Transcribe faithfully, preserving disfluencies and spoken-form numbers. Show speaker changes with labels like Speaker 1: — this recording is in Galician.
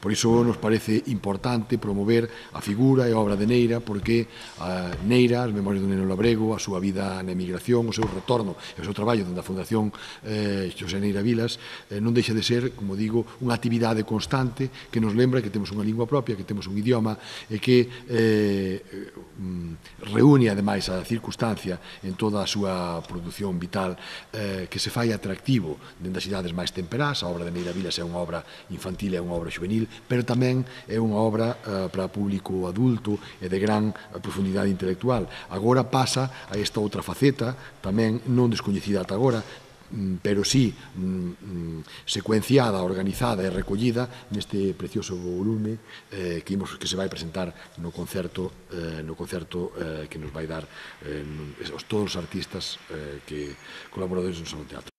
Speaker 1: Por iso nos parece importante promover a figura e a obra de Neira, porque a Neira, as memorias do neno labrego, a súa vida na emigración, o seu retorno e o seu traballo dentro da Fundación eh, Xosé Neira Vilas, eh, non deixa de ser, como digo, unha actividade constante que nos lembra que temos unha lingua propia, que temos un idioma e que eh, reúne, ademais, a circunstancia en toda a súa produción vital eh, que se fai atractivo dentro das idades máis temperás. A obra de Neira Vilas é unha obra infantil, é unha obra juvenil, pero tamén é unha obra eh, para público adulto e de gran profundidade intelectual. Agora pasa a esta outra faceta, tamén non descoñecida ata agora, pero sí secuenciada, organizada e recollida neste precioso volume eh, que, imos, que se vai presentar no concerto, eh, no concerto eh, que nos vai dar eh, todos os artistas eh, que colaboradores do Salón Teatro.